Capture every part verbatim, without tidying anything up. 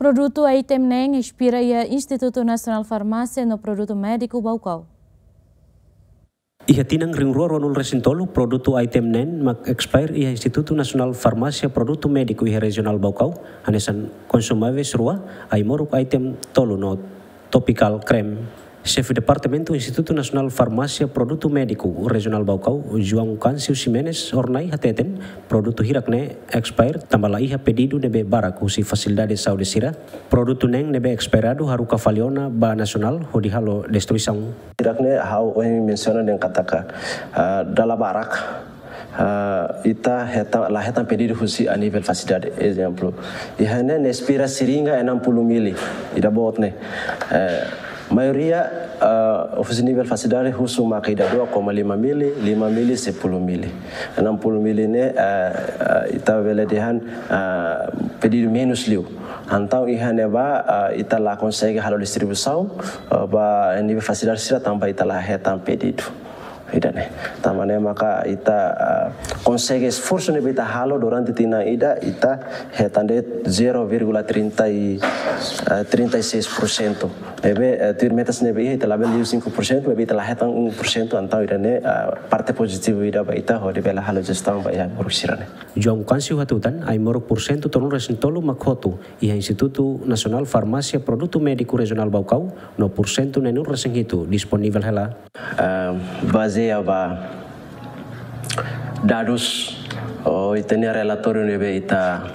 Produtu item neen ekspira iha Institutu Nasionál Farmásia no Produtu Médiku Baucau. Iha tinan rihun rua ruanulu resin tolu, produtu item neen mak ekspire iha Institutu Nasionál Farmásia Produtu Médiku iha Rejionál Baucau, hanesan konsumibles rua, ai-moruk item tolu no topical cream. Xefe Departamentu Institutu Nasionál Farmásia Produtu Médiku Rejionál Baucau, João Câncio Ximenes Hornai hateten, produtu hirak ne'e ekspire tanba la iha pedidu ne'ebé barak husi fasilidade saúde sira. Produtu neen ne'ebé ekspiradu haruka fali ona ba nasionál hodi halo destruisaun. Hirak ne'e ha'u ohin mensiona dehan katak, ah, dala barak, ah, ita hetan, la hetan pedidu husi a nivel fasilidade. Ezemplu, iha ne'e ne'e ekspira seringa enam puluh mili, ida boot ne'e. Eh, maioria, ah, husi nivel fasilidade husu maka ida dua koma lima mili, lima mili, sepuluh mili. Enam puluh mili ne'e, ah, ah, ita bele dehan, ah, pedidu menus liu. Entaun iha ne'ebá, ah, ita la konsege halo distribuisaun, ah, ba nivel fasilidade sira tanba ita la hetan pedidu. Ida-ne'e. Tanba ne'e maka ita, ah, konsege esforsu ne'ebé ita halo durante tinan ida, ita hetan de'it zero vírgula trinta e, ah, trinta e seis por cento. Ne'ebé, eh, tuir metas ne'ebé iha ita labele liu cinco por cento, maibé ita la hetan um por cento, entaun ida-ne'e, ah, parte pozitivu ida ba ita hodi bele halo jestaun ba iha ai-moruk sira-ne'e. João Câncio hatutan, ai-moruk pursentu tolunulu resin tolu mak hotu iha Institutu Nasionál Farmásia Produtu Médiku Rejionál Baucau, no pursentu neenulu resin hitu disponivel hela. Ah, bazeia ba dadus, ou ita-nia relatóriu ne'ebé ita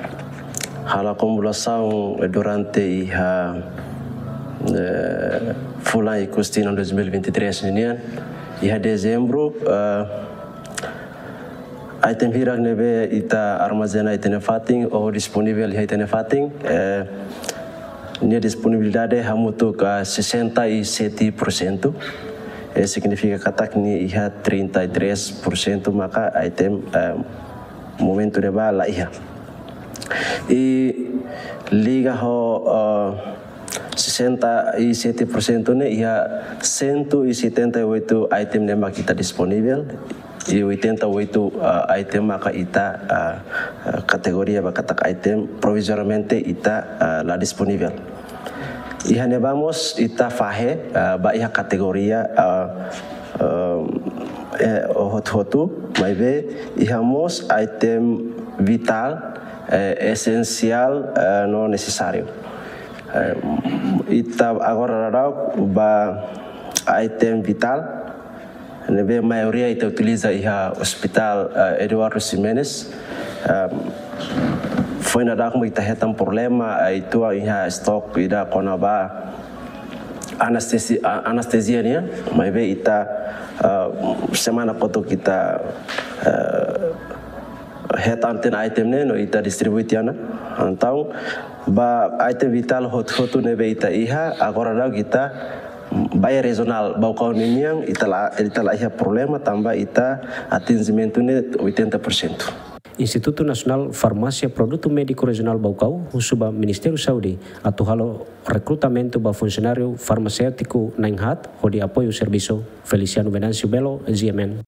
halo akumulasaun durante iha, eh, fulan Ikus tinan dois mil e vinte e três ninian, iha Dezembru, eh, item hirak ne'ebé ita armazena iha ita-nia fatin ou disponivel iha ita-nia fatin, eh, nia disponibilidade hamutuk sessenta e sete por cento. Eh, signifika katak nia iha trinta e três por cento maka item, eh, momentu ne'ebá la iha. I liga ho, eh, sessenta e sete por cento ne'e iha cento e setenta e oito item ne'e mak ita disponivel, i oitenta e oito, ah, item maka ita, ah, ah, kategoria ba katak item provizoriamente ita, ah, la disponivel. Iha ne'ebá mós ita fahe, ah, ba iha kategoria, ah, ah, eh, hotu-hotu, maibé iha mós item vitál, eh, esensiál, eh, no nesesáriu. Eh, ita agora daudaun ba item vitál, ne'ebé maioria ita utiliza iha Hospital, eh, Eduardo Ximenes. Eh, foin daudauk mak ita hetan problema, eh, atu iha estok ida kona-ba anestesi-, a-, anestezia nian, maibé ita, eh, semana kotuk ita, eh, hetan tiha ona item ne'e no ita distribui tiha ona. Entaun, ba item vitál hotu-hotu ne'ebé ita iha, agora daudauk ita ba iha Rejionál Baucau ninian, ita la, ita la iha problema, tanba ita atinjimentu ne'e oitenta por cento. Institutu Nasionál Farmásia Produtu Médiku Rejionál Baucau husu ba Ministériu Saúde atu halo rekrutamentu ba funsionáriu farmaséutiku na'in-haat hodi apoiu servisu. Feliciano Venâncio Belo, G M N.